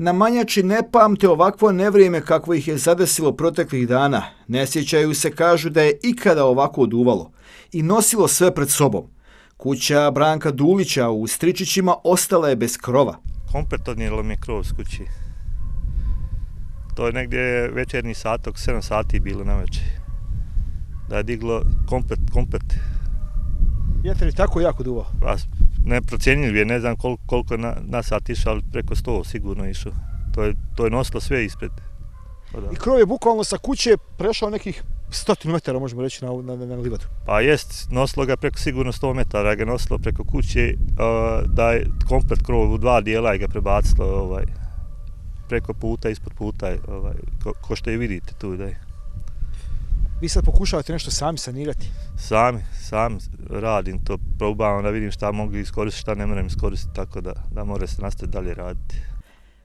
Na Manjači ne pamte ovakvo nevrijeme kakvo ih je zadesilo proteklih dana. Ne sjećaju se, kažu, da je ikada ovako oduvalo i nosilo sve pred sobom. Kuća Branka Dulića u Stričićima ostala je bez krova. Komplet odnijelo mi je krov s kući. To je negdje večernji sat, oko 7 sati bilo na večer. Da je diglo komplet. Vjetar je tako jako duvao? Neprocjenjiv je, ne znam koliko je na sat išao, ali preko 100 sigurno išao. To je nosilo sve ispred. I krov je bukvalno sa kuće prešao nekih 100 metara, možemo reći, na livadu. Pa jest, nosilo ga preko sigurno 100 metara, ga nosilo preko kuće, da je komplet krov u 2 dijela i ga prebacilo preko puta, ispod puta, ko što i vidite tu da je. Vi sad pokušavate nešto sami sanirati? Sam radim to, probavam da vidim šta mogu iskoristiti, šta ne moram iskoristiti, tako da mora se nastaviti dalje raditi.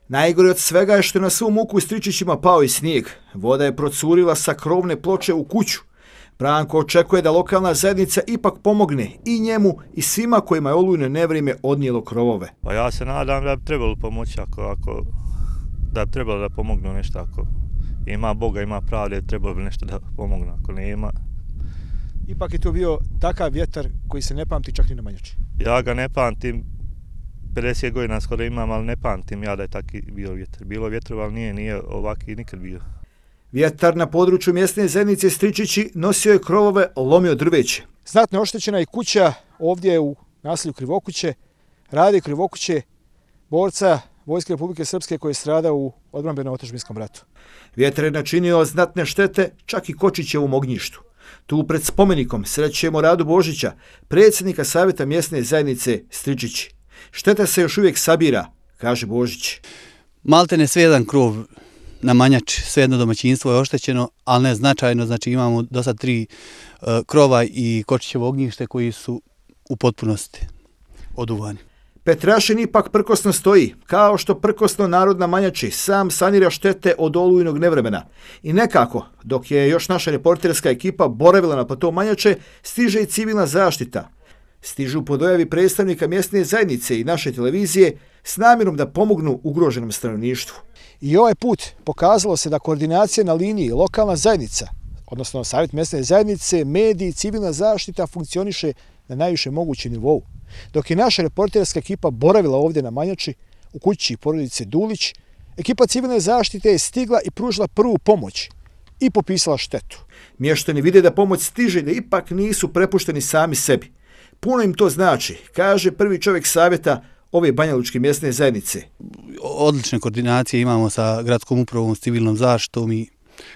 Najgore od svega je što je na svu muku u Stričićima pao i snijeg. Voda je procurila sa krovne ploče u kuću. Branko očekuje da lokalna zajednica ipak pomogne i njemu i svima kojima je olujno nevrijeme odnijelo krovove. Pa ja se nadam da bi trebalo pomoći, da bi trebalo da pomognu nešto, ako ima Boga, ima pravde, trebalo bi nešto da pomognu, ako nema. Ipak je to bio takav vjetar koji se ne pamti čak ni na Manjači. Ja ga ne pamtim, 50 godina skoro imam, ali ne pamtim ja da je taki bio vjetar. Bilo vjetrova, ali nije ovaki nikad bio. Vjetar na području mjesne zajednice Stričići nosio je krovove, lomio drveće. Znatno oštećena je kuća ovdje u naselju Krivokuće, Rade Krivokuće, borca Vojske Republike Srpske koji je stradao u odbrambeno-otadžbinskom ratu. Vjetar je načinio znatne štete čak i Kočićevom ognjištu. Tu pred spomenikom srećemo Radu Božića, predsjednika Savjeta mjesne zajednice Stričići. Šteta se još uvijek sabira, kaže Božić. Maltene sve jedan krov na Manjači, sve jedno domaćinstvo je oštećeno, ali ne značajno, znači imamo do sad 3 krova i Kočićevo ognjište koji su u potpunosti oduvani. Petrašin ipak prkosno stoji, kao što prkosno narod na Manjači sam sanira štete od olujnog nevremena. I nekako, dok je još naša reporterska ekipa boravila na platou Manjače, stiže i civilna zaštita. Stižu po dojavi predstavnika mjesne zajednice i naše televizije s namjerom da pomognu ugroženom stanovništvu. I ovaj put pokazalo se da koordinacija na liniji lokalna zajednica, odnosno Savjet mjesne zajednice, mediji i civilna zaštita funkcioniše na najviše mogućem nivou. Dok je naša reporterska ekipa boravila ovdje na Manjači, u kući porodice Dulić, ekipa civilne zaštite je stigla i pružila prvu pomoć i popisala štetu. Mještani vide da pomoć stiže, da ipak nisu prepušteni sami sebi. Puno im to znači, kaže prvi čovjek savjeta ove banjalučke mjesne zajednice. Odlične koordinacije imamo sa gradskom upravom, s civilnom zaštitom i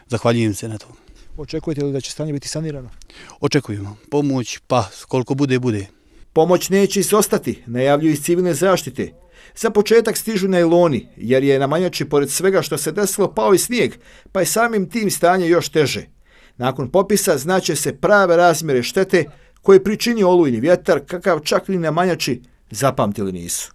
zahvaljujem se na to. Očekujete li da će stanje biti sanirano? Očekujemo. Pomoć, pa koliko bude. Pomoć neće izostati, najavljuju iz civilne zaštite. Za početak stižu najloni, jer je na Manjači pored svega što se desilo pao i snijeg, pa je samim tim stanje još teže. Nakon popisa znaće se prave razmjere štete koje pričinio olujni vjetar, kakav čak ni na Manjači zapamtili nisu.